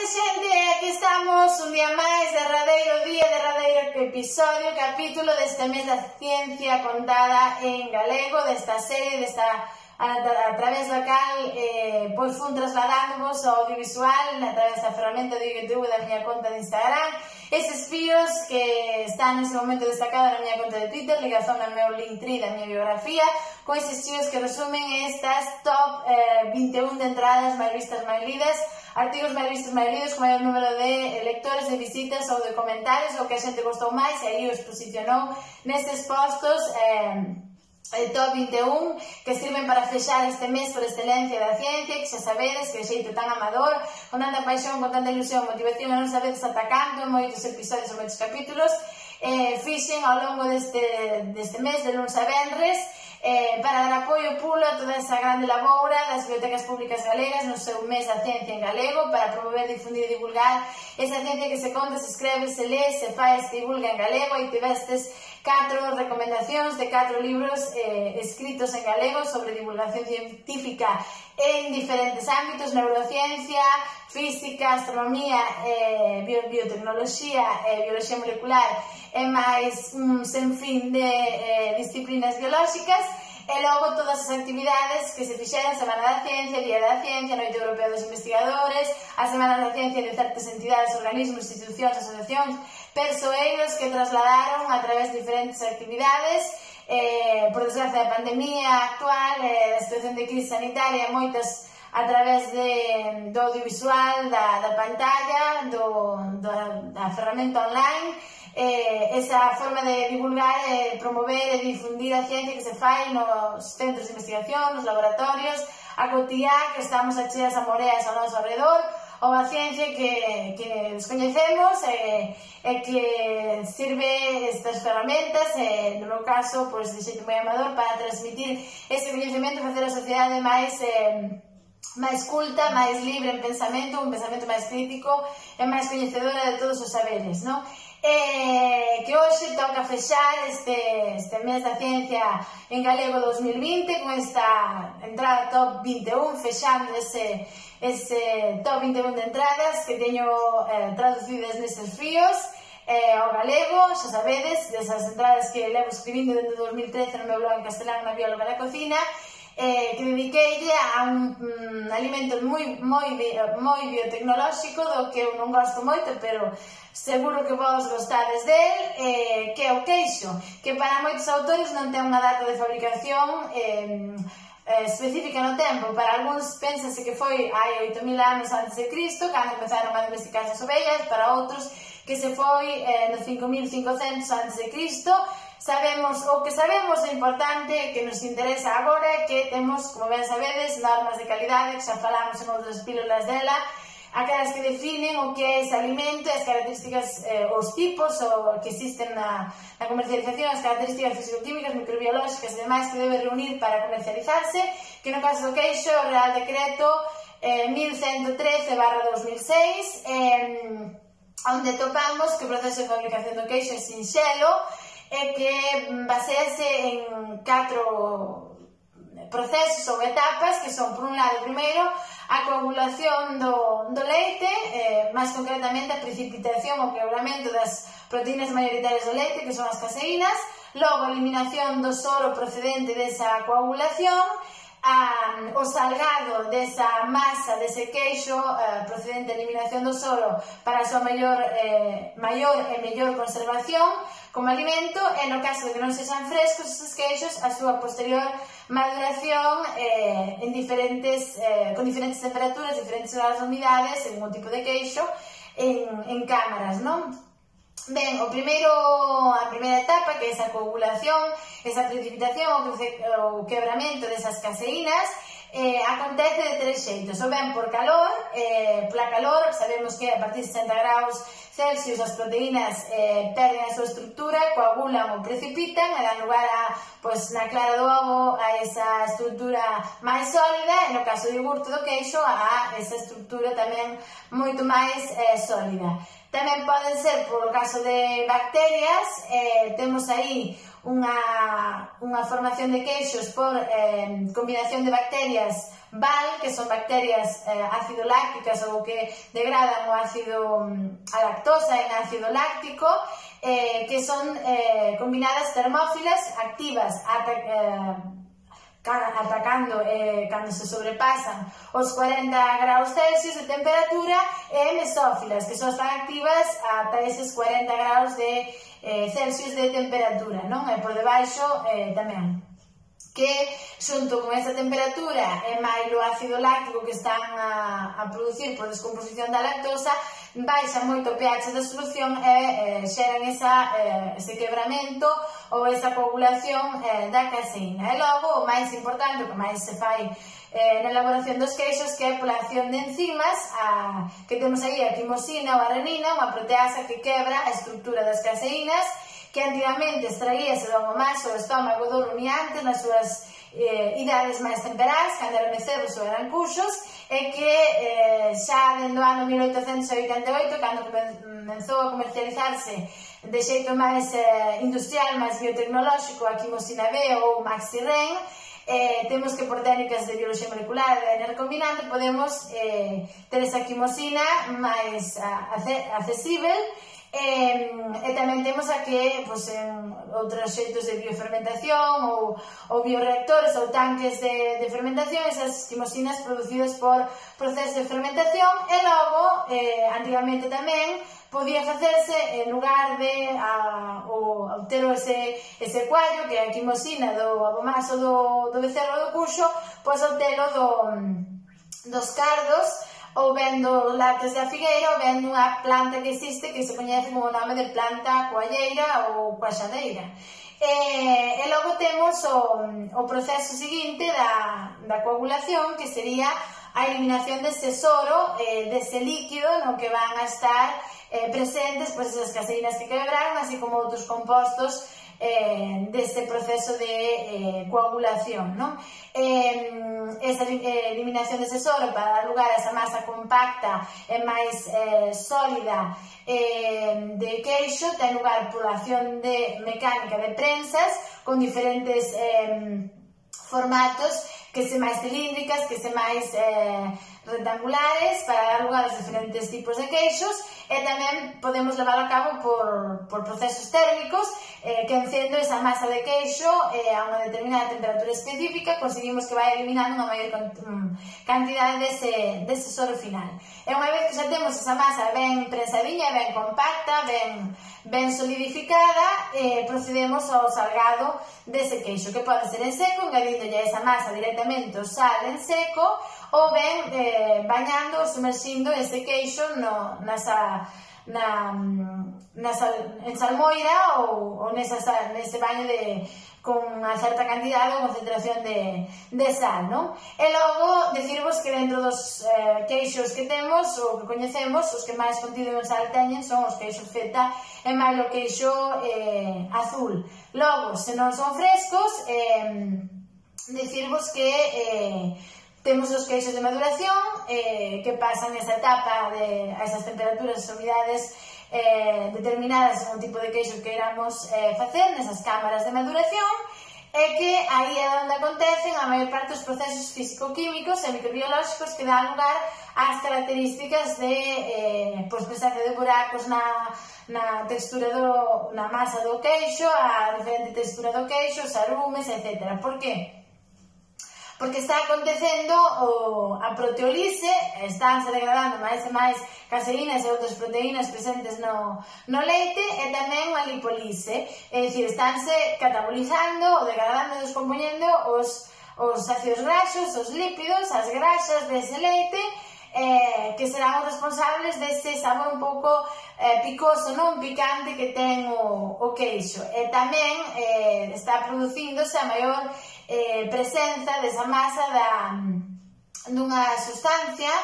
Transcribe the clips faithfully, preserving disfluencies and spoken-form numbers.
tarde, xente, aquí estamos un día máis, derradeiro día, derradeiro episodio, capítulo deste mes da ciencia contada en galego, desta serie, desta a, a través da cal eh, pois fun trasladándonos ao audiovisual a través da ferramenta de YouTube da miña conta de Instagram, eses fíos que están nese momento destacados na miña conta de Twitter, ligazón ao meu Linktree da miña biografía, con eses fíos que resumen estas top eh, vinte e un de entradas máis vistas, máis lidas, artigos máis vistos, máis lidos, con maior número de lectores, de visitas ou de comentarios, o que a xente gostou máis, e aí os posicionou nestes postos eh, el top vinte e un que sirven para fechar este mes por excelencia da ciencia, que xa sabedes que de xeito tan amador, con tanta paixón, con tanta ilusión, motivación, e non sabedes ata canto, en moitos episodios ou moitos capítulos, eh, fixen ao longo deste, deste mes, de luns a venres, eh, para dar apoio pulo a toda esa grande laboura das bibliotecas públicas galegas no seu mes da ciencia en galego, para promover, difundir e divulgar esa ciencia que se conta, se escreve, se lee, se fai, se divulga en galego, e tivestes catro recomendacións de catro libros eh, escritos en galego sobre divulgación científica en diferentes ámbitos: neurociencia, física, astronomía, eh, bio, biotecnoloxía, eh, bioloxía molecular e máis un senfín de eh, disciplinas biolóxicas. E logo todas as actividades que se fixeran: Semana da Ciencia, Día da Ciencia, Noite Europea dos Investigadores, a Semana da Ciencia de certas entidades, organismos, institucións, asociacións, persoeiros que trasladaron a través de diferentes actividades. Eh, por desgracia da pandemia actual, eh, da situación de crise sanitaria, moitas a través de, do audiovisual, da, da pantalla, do, do, da ferramenta online, eh, esa forma de divulgar, eh, promover e difundir a ciencia que se fai nos centros de investigación, nos laboratorios, a cotiá que estamos a cheas a moreas ao noso alrededor, ou a ciencia que, que descoñecemos e, e que sirve estas ferramentas, e, no meu caso, pois, de xeito moi amador, para transmitir ese coñecemento e facer a sociedade máis eh, máis culta, máis libre en pensamento, un pensamento máis crítico e máis coñecedora de todos os saberes, non? Eh, que hoxe toca fechar este, este mes da ciencia en galego dos mil vinte con esta entrada top vinte e un, fechando ese, ese top vinte e un de entradas que teño eh, traducidas neses fíos eh, ao galego, xa sabedes, desas entradas que levo escribindo desde dos mil trece no meu blog en castelán, na bióloga da cocina, eh, que dediqueille a un um, alimento moi, moi, moi biotecnolóxico, do que eu non gosto moito, pero seguro que vos gostades del, eh, que é o queixo, que para moitos autores non ten unha data de fabricación eh, eh, específica no tempo. Para algúns pénsase que foi hai oito mil anos antes de Cristo, cando empezaron a domesticar as ovellas, para outros que se foi eh, no cinco mil cincocentos antes de Cristo. Sabemos, o que sabemos é importante, que nos interesa agora, é que temos, como ben sabedes, normas de calidade, que xa falamos en outras pílulas dela, aquelas que definen o que é ese alimento, as características, eh, os tipos o que existen na, na comercialización, as características fisicoquímicas, microbiolóxicas e demais que debe reunir para comercializarse, que no caso do queixo, o Real Decreto eh, mil ciento trece barra dos mil seis, eh, onde topamos que o proceso de fabricación do queixo é sinxelo, e que basease en catro procesos ou etapas, que son, por un lado, primeiro, a coagulación do, do leite, eh, máis concretamente a precipitación ou quebramento das proteínas maioritarias do leite, que son as caseínas, logo a eliminación do soro procedente desa coagulación, a, o salgado desa masa, dese queixo eh, procedente da eliminación do soro para a súa maior, eh, maior e mellor conservación como alimento, e no caso de que non sexan frescos esos queixos, a súa posterior maduración eh, en diferentes, eh, con diferentes temperaturas, diferentes grados de humidades, según o tipo de queixo, en, en cámaras, non? Ben, o primeiro, a primeira etapa, que é esa coagulación, esa precipitación, o quebramento desas caseínas, eh, acontece de tres xeitos: ou ben por calor, eh, pola calor, sabemos que a partir de sesenta graus Celsius as proteínas eh, perden a súa estructura, coagulan ou precipitan, e dan lugar a, pois, na clara do ovo, a esa estructura máis sólida, e no caso do iogurte do queixo, a esa estructura tamén moito máis eh, sólida. Tamén poden ser, por o caso de bacterias, eh, temos aí unha, unha formación de queixos por eh, combinación de bacterias val, que son bacterias eh, ácido lácticas ou que degradan o ácido, a lactosa en ácido láctico, eh, que son eh, combinadas termófilas activas ata, eh, atacando eh, cando se sobrepasan os cuarenta graus Celsius de temperatura, e mesófilas, que só están activas ata eses cuarenta graus de eh, Celsius de temperatura, non? E por debaixo eh, tamén, que xunto con esa temperatura e máis o ácido láctico que están a, a producir por descomposición da lactosa, baixa moito o pH da solución e eh, xeran esa, eh, ese quebramento ou esa coagulación eh, da caseína. E logo, o máis importante, o que máis se fai eh, na elaboración dos queixos, que é pola acción de enzimas, a, que temos aí a quimosina ou a renina, unha proteasa que quebra a estructura das caseínas, que antigamente extraíase do maso do estómago do rumiante nas súas eh, idades máis temperais, cando eran mecebos ou eran cuxos, e que eh, xa dentro do ano mil oitocentos oitenta e oito, cando comenzou a comercializarse de xeito máis eh, industrial, máis biotecnolóxico, a quimosina B ou Maxiren, eh, temos que por técnicas de bioloxía molecular e de D N A recombinante podemos eh, ter esa quimosina máis accesible. E, e tamén temos aquí pues, en outros xeitos de biofermentación ou, ou bioreactores ou tanques de, de fermentación, esas quimosinas producidas por procesos de fermentación. E logo, eh, antigamente tamén podía facerse en lugar de a, o, obter ese, ese cuallo, que é a quimosina do abomaso do, do becerro do cuxo, pois obtelo do, dos cardos, ou ben dos lácteos da figueira, ou ben dunha planta que existe que se coñece como o nome de planta coalleira ou coaxadeira. E, e logo temos o, o proceso seguinte da, da coagulación, que sería a eliminación dese soro, eh, dese líquido no que van a estar eh, presentes pues, esas caseínas que quebraron, así como outros compostos eh, deste proceso de eh, coagulación, non? Eh, esa eh, eliminación dese soro para dar lugar a esa masa compacta e máis eh, sólida eh, de queixo ten lugar pola acción de mecánica de prensas con diferentes eh, formatos, que se máis cilíndricas, que se máis eh, rectangulares, para dar lugar aos diferentes tipos de queixos, e tamén podemos levar a cabo por, por procesos térmicos eh, que encendo esa masa de queixo eh, a unha determinada temperatura específica, conseguimos que vai eliminando unha maior cantidade dese, dese soro final. E unha vez que xa temos esa masa ben prensadinha, ben compacta, ben, ben solidificada, eh, procedemos ao salgado dese queixo, que pode ser en seco, engadíndolle esa masa directamente o sal en seco, ou ben eh, bañando ou sumerxindo ese queixo no, nasa, na, na sal, en salmoira ou, ou nesa, nese baño de, con unha certa cantidade ou concentración de, de sal, non? E logo, decirvos que dentro dos eh, queixos que temos, ou que coñecemos, os que máis contido en sal teñen son os queixos feta e máis o queixo eh, azul. Logo, se non son frescos, eh, decirvos que eh, temos os queixos de maduración, eh, que pasan esa etapa de, a esas temperaturas e humidades eh, determinadas en un tipo de queixo que queramos eh, facer nesas cámaras de maduración, e que aí é onde acontecen a maior parte dos procesos físico-químicos e microbiolóxicos que dan lugar ás características de eh, pues, presencia de buracos na, na textura do, na masa do queixo, a diferente textura do queixo, os arumes, etcétera. Por que? Porque está acontecendo o, a proteolise, estánse degradando máis e máis caseínas e outras proteínas presentes no, no leite, e tamén a lipolise, é dicir, estánse catabolizando ou degradando e descompoñendo os, os ácidos graxos, os lípidos, as graxas dese leite, eh, que serán os responsables dese sabor un pouco eh, picoso, non picante que ten o, o queixo. E tamén eh, está producíndose a maior eh, presenza desa masa da, dunha sustancia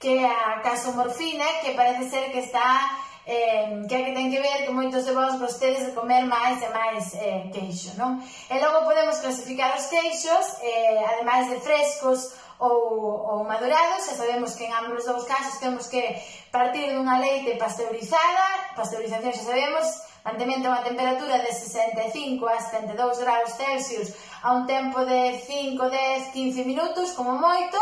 que é a casomorfina, que parece ser que está eh, que é que ten que ver que moitos de vós gostedes de comer máis e máis eh, queixo, non? E logo podemos clasificar os queixos, eh, ademais de frescos ou, ou madurados, e sabemos que en ambos os casos temos que partir dunha leite pasteurizada, pasteurización xa sabemos, mantemento a unha temperatura de sesenta e cinco a setenta e dous graus Celsius a un tempo de cinco, dez, quince minutos como moito,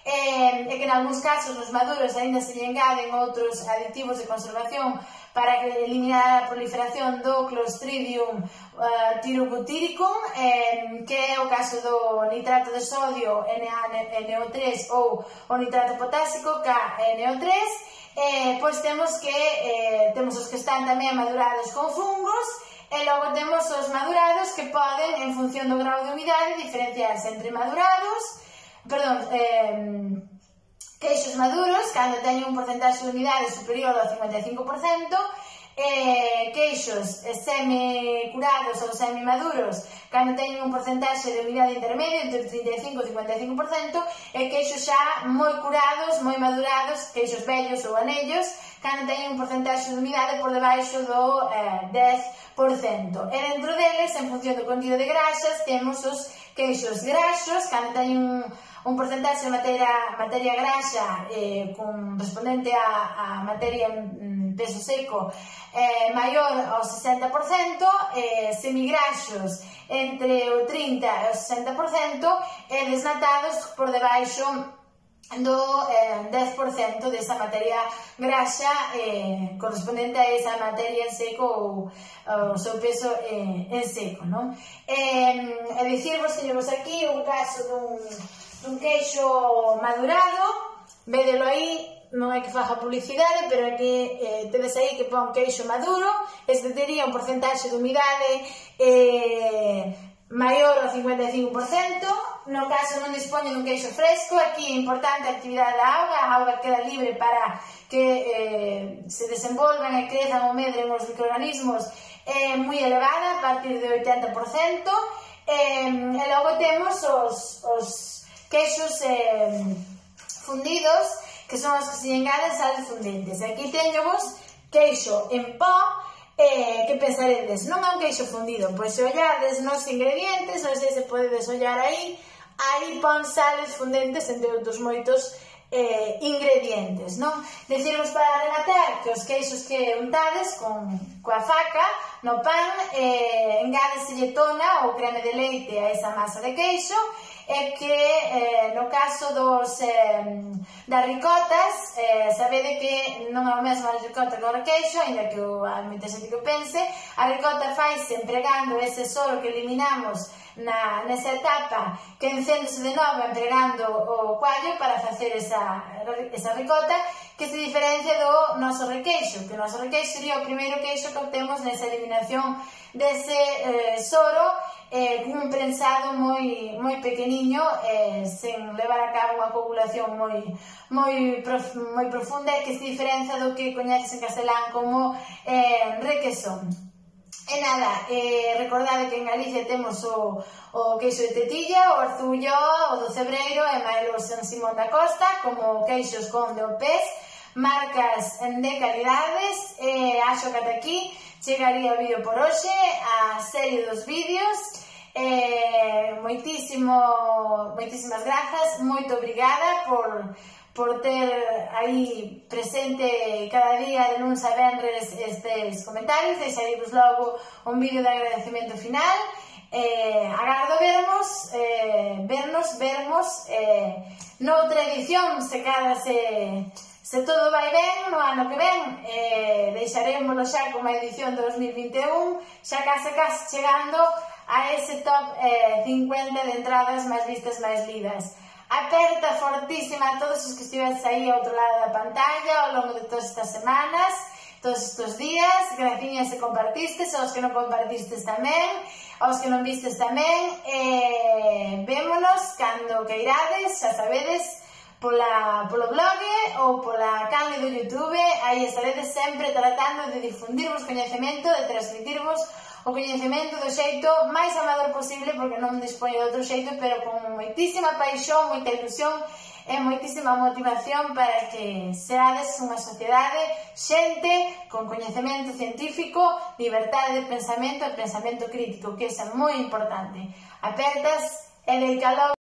e, e que en algúns casos nos maduros aínda se lle engaden outros aditivos de conservación para eliminar a proliferación do Clostridium uh, tyrobutyricum, eh, que é o caso do nitrato de sodio N A N O tres ou o nitrato potásico K N O tres. Eh, pois temos que eh, temos os que están tamén madurados con fungos, e logo temos os madurados que poden, en función do grau de humidade, diferenciarse entre madurados, perdón, eh, queixos maduros, cando teñen un porcentaxe de humidade superior ao cincuenta e cinco por cento, eh, queixos semi-curados ou semi-maduros, cando teñen un porcentaxe de humidade intermedio entre trinta e cinco e cincuenta e cinco por cento, e queixos xa moi curados, moi madurados, queixos vellos ou anellos, cando teñen un porcentaxe de humidade por debaixo do eh, dez por cento. E dentro deles, en función do contido de graxas, temos os queixos graxos, cando teñen un un porcentaxe de materia, materia graxa eh, con, respondente a, a materia en peso seco eh, maior ao sesenta por cento, eh, semigraxos entre o trinta e o sesenta por cento, e desnatados por debaixo do eh, dez por cento desa materia graxa eh, correspondente a esa materia en seco ou o seu peso eh, en seco, non? Eh, e dicirvos, teñemos aquí un caso dun un queixo madurado, vedelo aí, non é que faja publicidade, pero é que eh, tedes aí que pon queixo maduro. Este tería un porcentaxe de humidade eh, maior ao cincuenta e cinco por cento, no caso non dispone dun queixo fresco. Aquí é importante a actividade da auga, a auga queda libre para que eh, se desenvolvan e crezan ou medren os microorganismos, é eh, moi elevada, a partir de oitenta por cento, eh, e logo temos os, os queixos eh, fundidos, que son os que se engaden sales fundentes. Aquí teñemos queixo en pó, eh, que pensaredes, non é un queixo fundido? Pois se ollades nos ingredientes, non sei se podedes ollar aí, aí pon sales fundentes entre outros moitos eh, ingredientes, non? Decirvos para rematar que os queixos que untades con, coa faca no pan, eh, engádeselle tona ou creme de leite a esa masa de queixo, é que eh, no caso dos eh, das ricotas, eh, sabede que non é o mesmo a ricota que o requeixo, ainda que o a moita xente que o pense. A ricota faise empregando ese soro que eliminamos na, nesa etapa, que encéndese de novo empregando o coallo para facer esa, esa ricota, que se diferencia do noso requeixo, que o noso requeixo sería o primeiro queixo que obtemos nesa eliminación dese eh, soro, eh, cun prensado moi, moi pequeniño, eh, sen levar a cabo unha coagulación moi, moi, prof, moi profunda, que se diferencia do que coñeces en castelán como eh, requesón. E nada, eh, recordade que en Galicia temos o, o queixo de tetilla, o arzullo, o do cebreiro e mailo San Simón da Costa como queixos con de Opés, marcas de calidades. E acho que ata aquí chegaría o vídeo por hoxe, a serie dos vídeos. Eh, moitísimo, moitísimas grazas, moito obrigada por, por ter aí presente cada día de luns a venres estes comentarios. Deixaremos logo un vídeo de agradecemento final. Eh, agardo vermos, eh, vernos, vermos eh, noutra edición, se cada se, se todo vai ben no ano que ven. Eh, deixarémoslo xa como a edición de dos mil vinte e un, xa case case chegando a ese top eh, cincuenta de entradas máis vistas, máis lidas. Aperta fortísima a todos os que estivedes aí ao outro lado da pantalla ao longo de todas estas semanas, todos estes días. Graciñas se compartistes, aos que non compartistes tamén, aos que non vistes tamén. Eh, vémonos cando queirades, xa sabedes, pola, polo blog ou pola canle do YouTube. Aí estaredes sempre tratando de difundirvos coñecemento, de transmitirvos o coñecemento do xeito máis amador posible, porque non dispoño de outro xeito, pero con moitísima paixón, moita ilusión e moitísima motivación para que seades unha sociedade, xente con coñecemento científico, liberdade de pensamento e pensamento crítico, que é moi importante. Apertas e deica logo.